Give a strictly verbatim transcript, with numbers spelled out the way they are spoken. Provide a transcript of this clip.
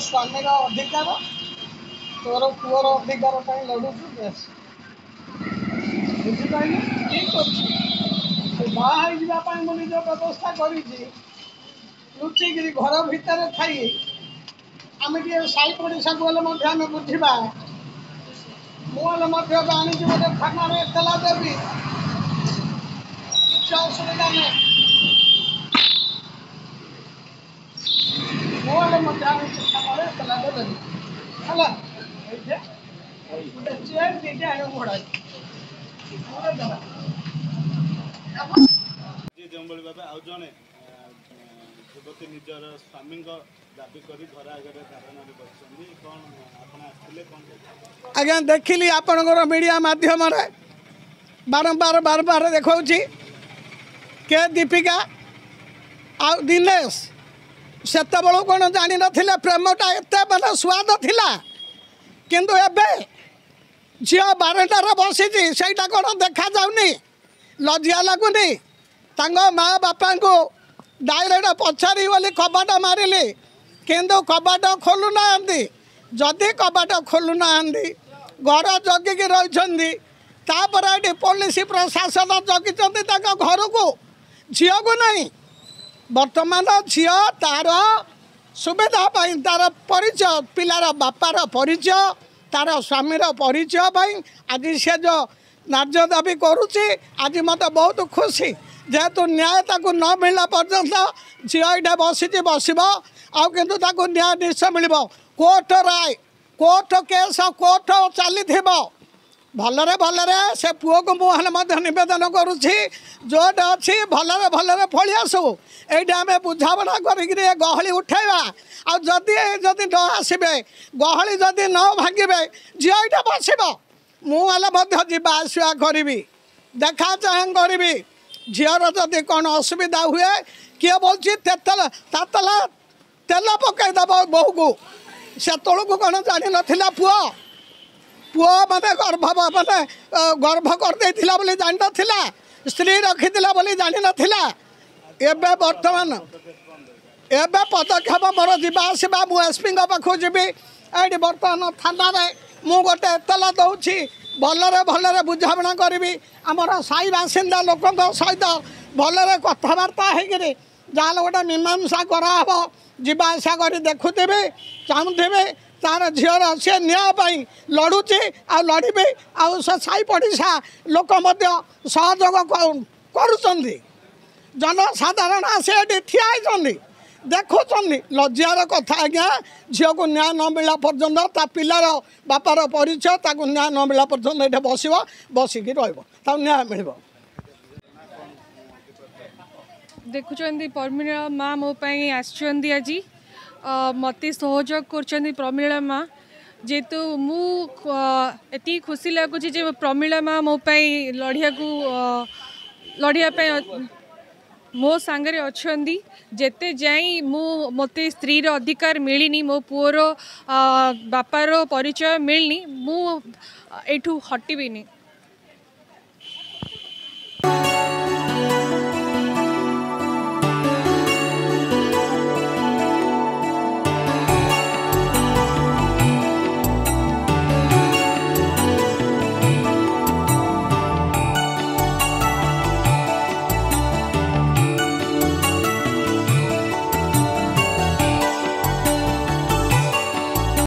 ସ୍ୱାମୀର ଅଧିକାର, ତୋର ପୁଅର ଅଧିକାର ପାଇଁ ଲଢ଼ୁଛୁ। ବେଶ, ବୁଝିପାରିଲୁ? ଠିକ୍ ଅଛି। ସେ ବାହା ହେଇଯିବା ପାଇଁ ମୁଁ ନିଜ ବ୍ୟବସ୍ଥା କରିଛି। ଲୁଚିକିରି ଘର ଭିତରେ ଥାଇ ଆମେ ଟିକେ ସାହି ପଡ଼ିଶାକୁ ହେଲେ ମଧ୍ୟ ଆମେ ବୁଝିବା। ମୁଁ ହେଲେ ମଧ୍ୟ ଏବେ ଆଣିକି ଗୋଟେ ଥାନାରେ ଏତଲା ଦେବି, କିଛି ଅସୁବିଧା ନାହିଁ। ମୁଁ ହେଲେ ମଧ୍ୟ ଆଣିକି ଥାନାରେ ଏତଲାଟେ ଦେବି। ହେଲା, ଏଇଠି ଗୋଟେ ଚେୟାର ଦୁଇଟା ଆଣିବ ଭଡ଼ା। ଯେଉଁଭଳି ଭାବେ ଆଉ ଜଣେ ଯୁବତୀ ନିଜର ସ୍ୱାମୀଙ୍କ ଦାବି କରି ଘର ଆଗରେ ଧାରଣାରେ ବସିଛନ୍ତି, କ'ଣ ଆପଣ ଆସିଥିଲେ, କ'ଣ? ଆଜ୍ଞା, ଦେଖିଲି ଆପଣଙ୍କର ମିଡ଼ିଆ ମାଧ୍ୟମରେ ବାରମ୍ବାର ବାରମ୍ବାର ଦେଖାଉଛି କେ ଦୀପିକା ଆଉ ଦିନେଶ। ସେତେବେଳକୁ କ'ଣ ଜାଣିନଥିଲେ ପ୍ରେମଟା ଏତେ ମାନେ ସୁଆଦ ଥିଲା? କିନ୍ତୁ ଏବେ ଝିଅ ବାରଣ୍ଡାରେ ବସିଛି, ସେଇଟା କ'ଣ ଦେଖାଯାଉନି? ଲଜ୍ଜା ଲାଗୁନି? ତାଙ୍କ ମା ବାପାଙ୍କୁ ଡାଇରେକ୍ଟ ପଚାରି ବୋଲି କବାଟ ମାରିଲି, କିନ୍ତୁ କବାଟ ଖୋଲୁନାହାନ୍ତି। ଯଦି କବାଟ ଖୋଲୁନାହାନ୍ତି, ଘର ଜଗିକି ରହିଛନ୍ତି, ତାପରେ ଏଠି ପୋଲିସ ପ୍ରଶାସନ ଜଗିଛନ୍ତି ତାଙ୍କ ଘରକୁ, ଝିଅକୁ ନାହିଁ। ବର୍ତ୍ତମାନ ଝିଅ ତାର ସୁବିଧା ପାଇଁ, ତାର ପରିଚୟ, ପିଲାର ବାପାର ପରିଚୟ, ତାର ସ୍ୱାମୀର ପରିଚୟ ପାଇଁ ଆଜି ସେ ଯେଉଁ ନ୍ୟାଯ୍ୟ ଦାବି କରୁଛି, ଆଜି ମୋତେ ବହୁତ ଖୁସି। ଯେହେତୁ ନ୍ୟାୟ ତାକୁ ନ ମିଳିଲା ପର୍ଯ୍ୟନ୍ତ ଝିଅ ଏଇଟା ବସିଛି, ବସିବ ଆଉ, କିନ୍ତୁ ତାକୁ ନ୍ୟାୟ ନିଶ୍ଚୟ ମିଳିବ। କୋର୍ଟ ରାୟ, କୋର୍ଟ କେସ୍, କୋର୍ଟ ଚାଲିଥିବ। ଭଲରେ ଭଲରେ ସେ ପୁଅକୁ ମୁଁ ହେଲେ ମଧ୍ୟ ନିବେଦନ କରୁଛି, ଯେଉଁଟା ଅଛି ଭଲରେ ଭଲରେ ଫଳି ଆସୁ। ଏଇଟା ଆମେ ବୁଝାମଣା କରିକିରି ଏ ଗହଳି ଉଠେଇବା। ଆଉ ଯଦି ଯଦି ନ ଆସିବେ, ଗହଳି ଯଦି ନ ଭାଙ୍ଗିବେ, ଝିଅ ଏଇଟା ବସିବ। ମୁଁ ହେଲେ ମଧ୍ୟ ଯିବା ଆସିବା କରିବି, ଦେଖା ଚାହାଁ କରିବି। ଝିଅର ଯଦି କ'ଣ ଅସୁବିଧା ହୁଏ, କିଏ ବଲୁଛି ତେଲ ତାତଲା ତେଲ ପକାଇଦେବ ବୋହୂକୁ, ସେତେବେଳକୁ କ'ଣ ଜାଣିନଥିଲା ପୁଅ? ପୁଅ ମାନେ ଗର୍ଭ ମାନେ ଗର୍ଭ କରିଦେଇଥିଲା ବୋଲି ଜାଣିନଥିଲା? ସ୍ତ୍ରୀ ରଖିଥିଲା ବୋଲି ଜାଣିନଥିଲା? ଏବେ ବର୍ତ୍ତମାନ ଏବେ ପଦକ୍ଷେପ ମୋର ଯିବା ଆସିବା, ମୁଁ ଏସ୍ପିଙ୍କ ପାଖକୁ ଯିବି। ଏଇଠି ବର୍ତ୍ତମାନ ଥାନାରେ ମୁଁ ଗୋଟେ ଏତଲା ଦେଉଛି। ଭଲରେ ଭଲରେ ବୁଝାମଣା କରିବି ଆମର ସାହି ବାସିନ୍ଦା ଲୋକଙ୍କ ସହିତ, ଭଲରେ କଥାବାର୍ତ୍ତା ହେଇକିରି ଯାହାହେଲେ ଗୋଟେ ମୀମାଂସା କରାହେବ। ଯିବା ଆସିବା କରି ଦେଖୁଥିବି, ଚାହୁଁଥିବି ତାର ଝିଅର ସେ ନ୍ୟାୟ ପାଇଁ ଲଢ଼ୁଛି ଆଉ ଲଢ଼ିବି। ଆଉ ସେ ସାହି ପଡ଼ିଶା ଲୋକ ମଧ୍ୟ ସହଯୋଗ କରୁଛନ୍ତି। ଜନସାଧାରଣ ଆସି ଏଠି ଠିଆ ହେଇଛନ୍ତି, ଦେଖୁଛନ୍ତି। ଲଜ୍ଜାର କଥା ଆଜ୍ଞା, ଝିଅକୁ ନ୍ୟାୟ ନ ମିଳିଲା ପର୍ଯ୍ୟନ୍ତ, ତା ପିଲାର ବାପାର ପରିଚୟ ତାକୁ ନ୍ୟାୟ ନ ମିଳିଲା ପର୍ଯ୍ୟନ୍ତ ଏଠି ବସିବ, ବସିକି ରହିବ, ତାକୁ ନ୍ୟାୟ ମିଳିବ। ଦେଖୁଛନ୍ତି, ପ୍ରମିଳା ମା ମୋ ପାଇଁ ଆସିଛନ୍ତି ଆଜି, ମୋତେ ସହଯୋଗ କରୁଛନ୍ତି ପ୍ରମିଳା ମା। ଯେହେତୁ ମୁଁ ଏତିକି ଖୁସି ଲାଗୁଛି ଯେ ପ୍ରମିଳା ମା ମୋ ପାଇଁ ଲଢ଼ିବାକୁ ଲଢ଼ିବା ପାଇଁ ମୋ ସାଙ୍ଗରେ ଅଛନ୍ତି। ଯେତେ ଯାଇ ମୁଁ ମୋତେ ସ୍ତ୍ରୀର ଅଧିକାର ମିଳିନି, ମୋ ପୁଅର ବାପାର ପରିଚୟ ମିଳିନି, ମୁଁ ଏଇଠୁ ହଟିବିନି।